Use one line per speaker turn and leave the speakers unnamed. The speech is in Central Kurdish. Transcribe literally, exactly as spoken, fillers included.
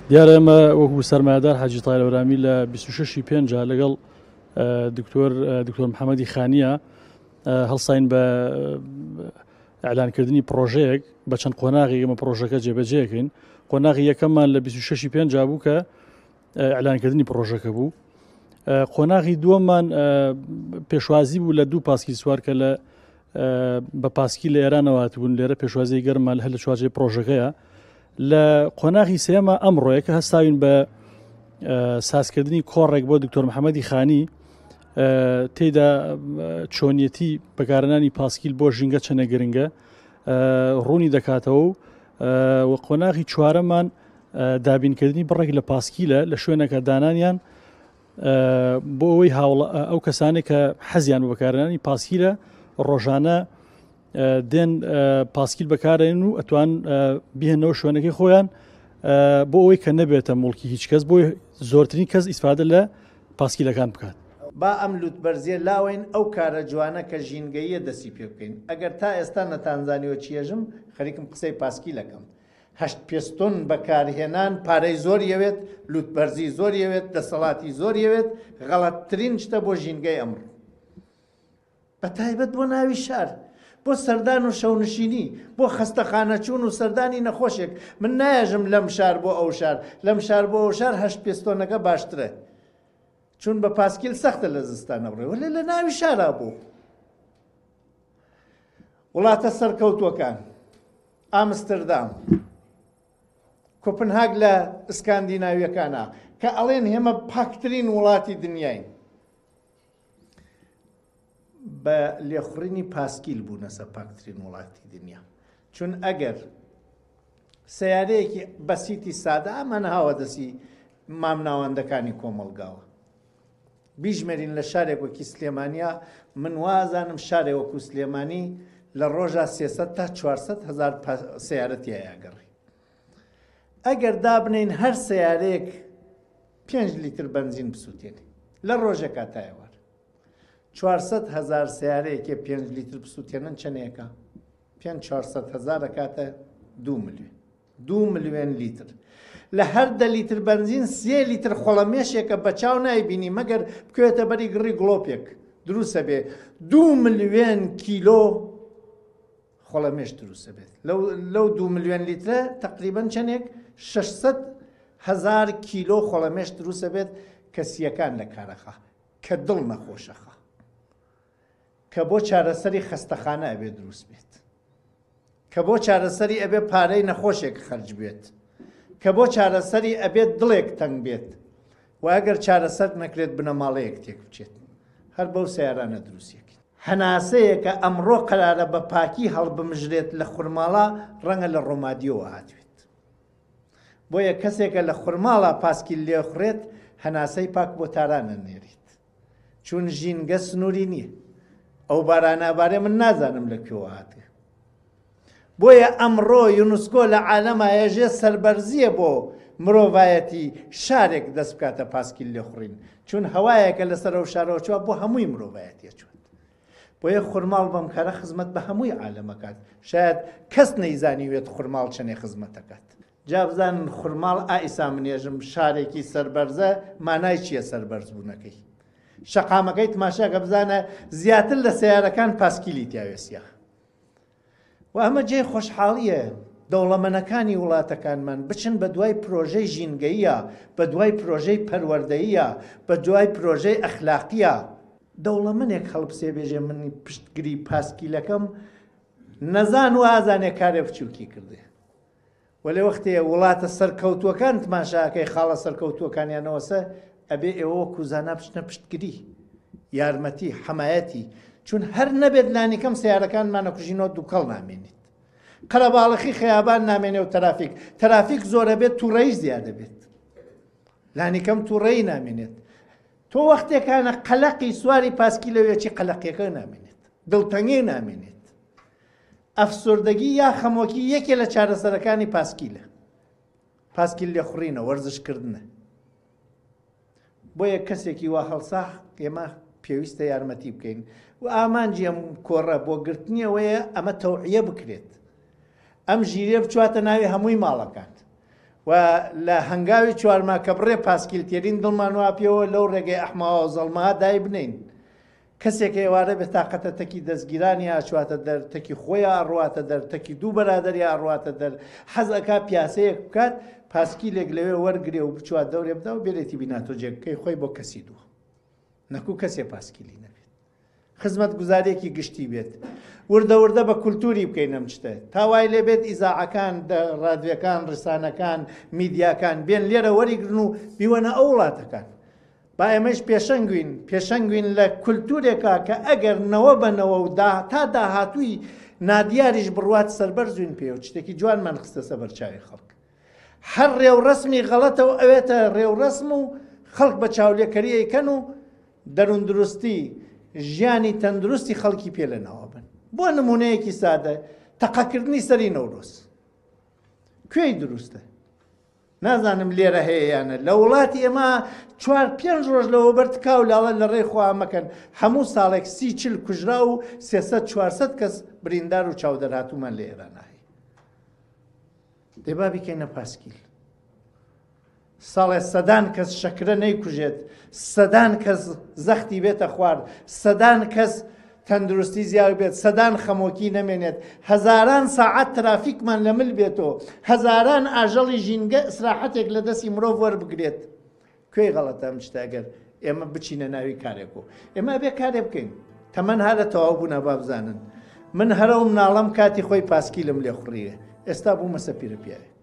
دیارە ئێمە وەکو سەرمایەدار حاجی تاهیر هەورامی لە بیست و شەش ی پێنج لەگەڵ دکتۆر دکتۆر محەممەدی خانیە هەڵساین بە ئەعلانکردنی پرۆژەیەک بە چەند قۆناغی ئێمە پرۆژەکە جێبەجێکەین. قۆناغی یەکەممان لە بیست و شەش ی پێنج بوو کە ئەعلانکردنی پرۆژەکە بوو. قۆناغی دووەممان پێشوازی بوو لە دوو پاسکیل سوار کە لە بە پاسکیل لە ئێرانەوە هاتبوون، لێرە پێشوازی گەرممان هەر لە چوارچێوەی پرۆژەکەیە. لە قۆناغی سێمە ئەمڕۆیە کە هەستاوین بە سازکردنی کۆڕێک بۆ دکتۆر محەممەدی خانی، تێدا چۆنیەتی بەکارهێنانی پاسکیل بۆ ژینگە چەندە گرنگە ڕوونی دەکاتەوە و قۆناغی چوارەمان دابینکردنی بڕێک لە پاسکیلە لە شوێنەکە دانانیان بۆ ئەوەی ئەو کەسانێک کە حەزیان بە بەکارهێنانی پاسکیلە ڕۆژانە دێن پاسکیل بەکارێن و ئەتوان بهێنەوە شوێنەکەی خۆیان بۆ ئەوەی کە نەبێتە موڵکی هیچ کەس، بۆی زۆرترین کەس ئیسفادە لە پاسکیلەکان بکات.
با ئەم لوتبەرزیە لاوەین ئەو کارە جوانە کە ژینگەیە دەستی پێ بکەین. ئەگەر تا ئێستا نەتانزانیوە چیەژم، خەریکم قسەی پاسکیلەکەم. هەشت پێستۆن بەکارهێنان پارەی زۆر یەوێت، لوتبەرزی زۆر یەوێت، دەسەڵاتی زۆر یەوێت، غەڵەتترین شتە بۆ ژینگەی ئەمڕۆ، بە تایبەت بۆ ناوی شار، بۆ سەردان و شەونشینی، بۆ خەستەخانە چوون و سەردانی نەخۆشێک. من نایەژم لەم شار بۆ ئەو شار، لەم شار بۆ ئەو شار هەشت پێستۆنەکە باشترە، چون بە پاسکیل سەختە لە زستانە بڕێ، وەلێ لە ناوی شارا بوو. وڵاتە سەرکەوتووەکان، ئامستردام، کۆپنهاگ لە ئسکاندیناویەکانە کە ئەڵێن هێمە پاکترین وڵاتی دنیاین، بە لێخوڕینی پاسکیل بوونەسە پاکترین وڵاتی دنیا. چون ئەگەر سیارەیەکی بەسیتی سادە ئەمانە هاوە دەستی مامناوەندەکانی کۆمەڵگاوە، بیژمێرین لە شارێک وەکی سلێمانیا، من وازانم شارێک وەکو سلێمانی لە ڕۆژا سێسەد تا چوارسەد هەزار سیارە تیایا گەڕی. ئەگەر دابنین هەر سیارەیەک پێنج لیتر بەنزین بسووتێنێ لە ڕۆژێکا تا ئێوار، چوارسەد هەزار سیارەیەکێ پێنج لیتر بسووتێنن چەندێکە؟ پێنج چوارسەد هەزار ئەکاتە دوو ملیۆن، دوو ملیۆن لیتر. لە هەر دە لیتر بەنزین سێ لیتر خۆڵەمێشێکە بە چاو نایبینی مەگەر بکەوێتە بەری گڕی گڵۆپێک دروستە بێ. دوو ملیۆن کیلۆ خۆڵەمێش دروستە بێت. لەو دوو ملیۆن لیترە تقریباً چەندێک؟ شەشسەد هەزار کیلۆ خۆڵەمێش دروستە بێت کە سیەکان لە کارەخا، کە دڵ نەخۆشەخا، کە بۆ چارەسەری خەستەخانە ئەبێ دروست بێت، کە بۆ چارەسەری ئەبێ پارەی نەخۆشێک خەرج بێت، کە بۆ چارەسەری ئەبێت دڵێک تەنگ بێت و ئەگەر چارەسەر نەکرێت بنەماڵەیەک تێک بچێت. هەر بەو سیارانە دروستیەکەین. هەناسەیەکە ئەمڕۆ قەرارە بە پاکی هەڵبمژرێت لە خورماڵا، ڕەنگە لە ڕۆمادیەوە هاتوێت. بۆیە کەسێکە لە خورماڵا پاسکیل لێخڕێت هەناسەی پاک بۆ تارانە نێریت، چون ژینگە سنووری نییە. ئەو بارانە ئەبارێ من نازانم لە کوێوە هاتوێ. بۆیە ئەمڕۆ یونسکۆ لە عالەما ئێژێ سەربەرزیە بۆ مرۆڤایەتی شارێک دەست بکاتە پاسکیل لێخوڕین، چون هەوایەکە لەسەر ئەو شارەوە چوە بۆ هەمووی مرۆڤایەتیە چوت. بۆیە خورماڵ بەم کارە خزمەت بە هەمووی عالەمەکات. شاید کەس نەیزانیوێت خورماڵ چەندێ خزمەتەکات. جا بزانن خورماڵ ئایسا منێژم شارێکی سەربەرزە، مانای چییە سەربەرزبوونەکەی؟ شەقامەکەی تماشاکە بزانە زیاتر لە سیارەکان پاسکیلی تیاوێسیە. و ئەمە جێی خۆشحاڵیە دەوڵەمەنەکانی وڵاتەکانمان بچن بە دوای پرۆژەی ژینگەیە، بە دوای پرۆژەی پەروەردەیە، بە دوای پرۆژەی ئەخلاقیە. دەوڵەمەنێک هەڵبسێ بێژێ من پشتگری پاسکیلەکەم، نەزان و ئازانێ کارێ بچووکی کردێ. وەلێ وەختێ وڵاتە سەرکەوتووەکان تماشاکەی خاڵە سەرکەوتووەکانیانەوەسە، ئەبێ ئێوە وەکو زانا بچنە پشتگری، یارمەتی، حەمایەتی، چون هەر نەبێت لانیکەم سیارەکانمانە کوژینەوە دووکەڵ نامێنێت، قەرەباڵخی خەیابان نامێنێ و ترافیک، ترافیک زۆرە بێت تووڕەیش زیادە بێت، لانیکەم تووڕەیی نامێنێت. تۆ وەختێکانە قەلەقی سواری پاسکی لەوێکی قەلەقیەکە نامێنێت، دڵتەنگی نامێنێت. ئەفسردگی یا خەمۆکی یەکێ لە چارەسەرەکانی پاسکیلە، پاسکیل لێخوڕینە، وەرزشکردنە. بۆیە کەسێکی وا هەڵسا ئێمە پێویستە یارمەتی بکەین و ئامانجی ئەم کۆڕە بۆ گرتنیەوەیە ئەمە تەوعیە بکرێت، ئەم ژیرێ بچواتە ناوی هەمووی ماڵەکان و لە هەنگاوی چوارما کە بڕێ پاسکیل تێرین دڵمان وا پێوە لەو ڕێگەی ئەحماوە و زەڵمەها دای بنین. کەسێک ئێوارە بێ تاقەتە تەکی دەستگیرانی ئاچواتە دەر، تەکی خۆیان ئەڕواتە دەر، تەکی دوو بەرادەری ئەڕواتە دەر، حەز ئەکا پیاسەیەک بکات، پاسکیلێک لەوێ وەرگرێ و بچوات دەورێ بدا و بێرێتی بیناتۆ جێگەکەی خۆی بۆ کەسی دووە، نەکو کەسێ پاسکیلی نەبێت، خزمەتگوزاریەکی گشتی بێت. وردە وردە بە کولتوری بکەین ئەم شتە تا وای لێ بێت ئیزاعەکان، ڕادیۆکان، ڕسانەکان، میدیاکان بێن لێرە وەریگرن و بیوەنە ئەو وڵاتەکان. با ئێمەش پێشەنگوین، پێشەنگوین لە کولتورێکا کە ئەگەر نەوە بەنەوە و تا داهاتووی نادیاریش بڕوات سەربەرزوین پێ و شتێکی جوانمان خستە سەر بەرچاوی خەڵک. هەر ڕێوڕەسمی غەڵەتە و ئەوێتە ڕێوڕەسم و خەڵک بە چاولێکەری ئەیکەن و دەروندروستی ژیانی تەندروستی خەڵکی پێ لەناوە بن. بۆ نمونەیەکی سادە تەقەکردنی سەری نەورۆز کوێی دروستە؟ نازانم لێرە هەیە یانە. لە وڵاتی ئێمە چوار پێنج ڕۆژ لەوە بەر تکاو لاڵە لە ڕێی خوا مەکەن، هەموو ساڵێک سی چل کوژرا و سێسەد چوارسەد کەس بریندار و چاودەرهاتوومان لە ئێران هەیە. دێ با بیکەینە پاسکیل. ساڵێ سەدان کەس شەکرە نەیکوژێت، سەدان کەس زەختی بێتە خوارد، سەدان کەس تەندروستی زیاد بێت، سەدان خەمۆکی نەمێنێت، هەزاران ساعەت ترافیکمان لە مل بێتەوە، هەزاران ئاژەڵی ژینگە ئیسراحەتێک لە دەستی مرۆڤ وەربگرێت. کوێی غەڵەتە ئەم شتە ئەگەر ئێمە بچینە ناوی کارێک و ئێمە ئەبێ کارێ بکەین. تەمەن هەرە تەواو بوونە با بزانن. من هەرە و مناڵەم کاتی خۆی پاسکیلم لێخوڕیوێ، ئێستا بوومە سەپیرە پیاوێک.